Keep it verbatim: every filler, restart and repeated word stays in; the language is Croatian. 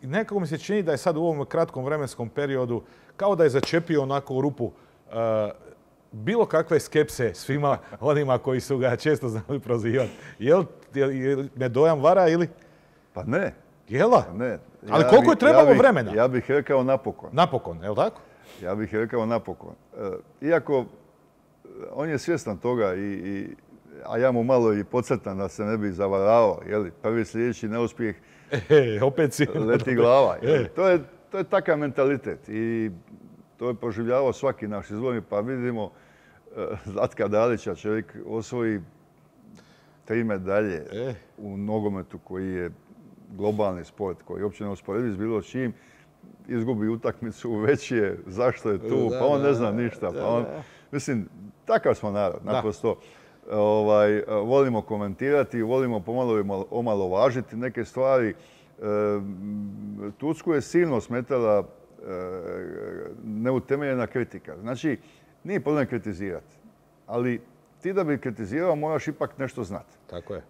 nekako mi se čini da je sad u ovom kratkom vremenskom periodu kao da je začepio onako u rupu uh, bilo kakve skepse svima onima koji su ga često znali prozivati. Jel, jel, jel me dojam vara ili? Pa ne. Jela? Ne. Ali koliko je trebalo ja bih, vremena? Ja bih rekao napokon. Napokon, je li tako? Ja bih rekao napokon. E, iako on je svjestan toga, i, i, a ja mu malo i podcrtam da se ne bi zavaravao. Jeli? Prvi sljedeći neuspjeh e, opet si... leti glava. E. To, je, to je takav mentalitet i to je proživljavao svaki naš izborni, pa vidimo Zlatka Dalića, čovjek osvoji tri medalje e. u nogometu koji je globalni sport, koji je uopće ne usporediv s bilo čim, izgubi utakmicu, već je, zašto je tu, da, pa on da, ne zna ništa. da, Pa on, da. Mislim, takav smo narod, naprosto. Ovaj, volimo komentirati, volimo pomalo omalovažiti neke stvari. E, Tursku je silno smetala e, neutemeljena kritika. Znači, nije problem kritizirati, ali ti da bi kritizirao moraš ipak nešto znati. Tako je.